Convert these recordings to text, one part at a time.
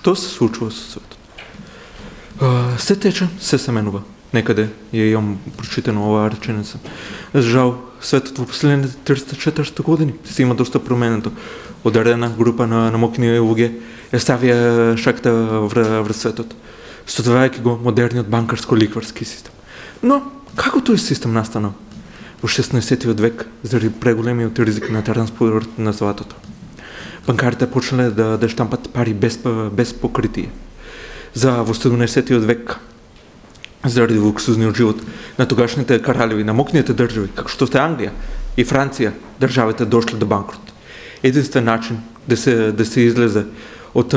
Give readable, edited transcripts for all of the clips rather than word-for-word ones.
Што се случува со светот? Се тече, се менува. Некаде ја имам прочитано оваа реченица. Жал, светот во последните 300-400 години се има доста променето. Одредена група на мокни луѓе ја ставија шакта врз светот, студувајќи го модерниот банкарско-ликварски систем. Но, како тој систем настанал? Во 16 век, заради преголемиот ризик на транспорт на златото. Банкарите почнале да штампат пари без покритие. Во 17 век, заради луксузниот живот на тогашните кралеви, на мокните држави, како што сте Англија и Франција, државите дошле до банкрот. Единствен начин да се излезе од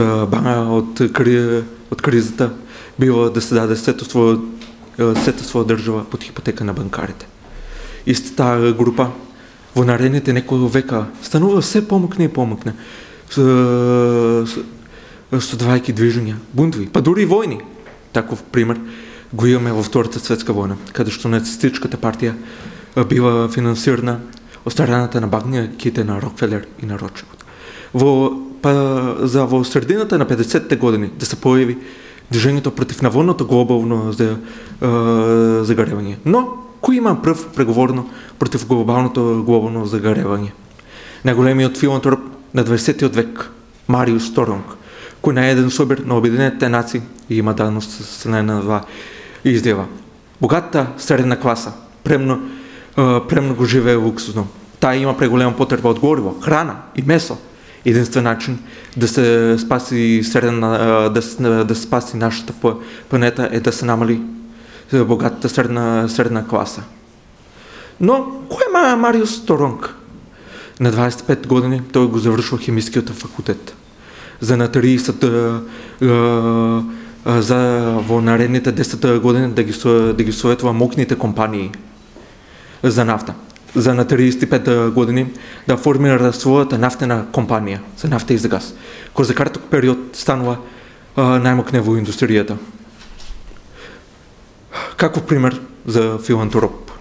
кризата било да се даде сета своја држава под хипотека на банкарите. Истата група во наредните неколку века станува се помокне и помокне, студувајќи движења, бунтови, па дури и војни. Таков пример го имаме во Втората светска војна, каде што нацистичката партија била финансирана од страната на банките на Рокфелер и на Ротшилд. Во средината на 50-те години да се појави движењето против наводното глобално загаревање. Но кој има прв преговорно против глобално загаревање? Најголемиот филантроп на 20 век, Мариус Торонг, кој на еден собир на Обединетите нации има давност страна на два изјава. Богатата средна класа премно го живее луксузно. Таа има преголема потреба од гориво, храна и месо. Единствен начин да се спаси нашата планета е да се намали богатата средна класа. Но кој е Мариус Торонг? На 25 години тој го завршува хемискиот факултет. За во наредните 10 години да ги советува мокните компании за нафта. За на 35 години да формира својата нафтена компанија за нафта и за газ, кој за краток период станува најмокне во индустријата. Каков пример за филантроп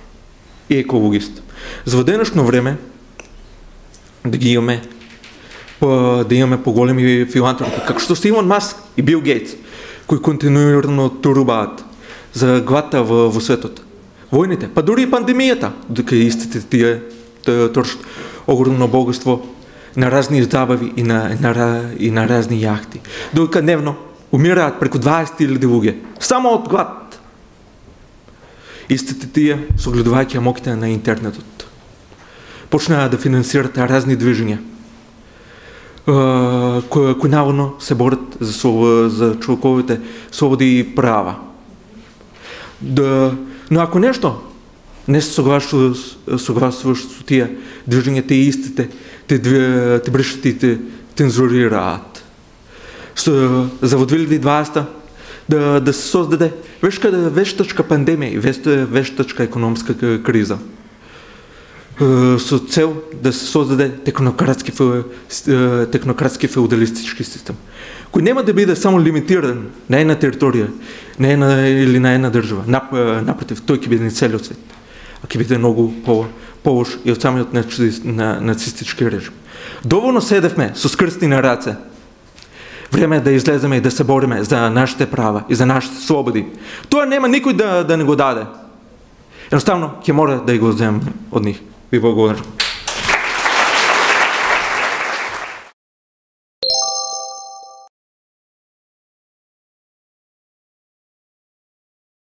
и екологист. За денешно време да имаме поголеми филантропи, како што се Илон Маск и Бил Гейтс, кои континуирано турубаат за гладта во светот. Војните, па дури и пандемијата, дека истите тие трошат огромно богатство на разни забави и на разни јахти. Додека дневно умираат преку 20.000 луѓе, само од глад. Истите тие, согледувајќи моките на интернетот, почнаа да финансират разни движења, кои наводно се борат за човековите слободи и права. Но ако нешто не се согласуваш со тие движења, те истите те брешат и те цензурираат. За во 2020 да се создаде вештачка пандемија и вештачка економска криза, со цел да се создаде технократски феудалистички систем, кој нема да биде само лимитиран на една територија, или на една држава. Напротив, тој ќе биде на целиот свет, а ќе биде многу полош и од самиот нацистички режим. Доволно седевме со скрстени на раце. Време е да излеземе и да се бориме за нашите права и за нашите слободи. Тоа нема никој да не го даде. Едноставно ќе мора да го земеме од нив. Ви благодарам.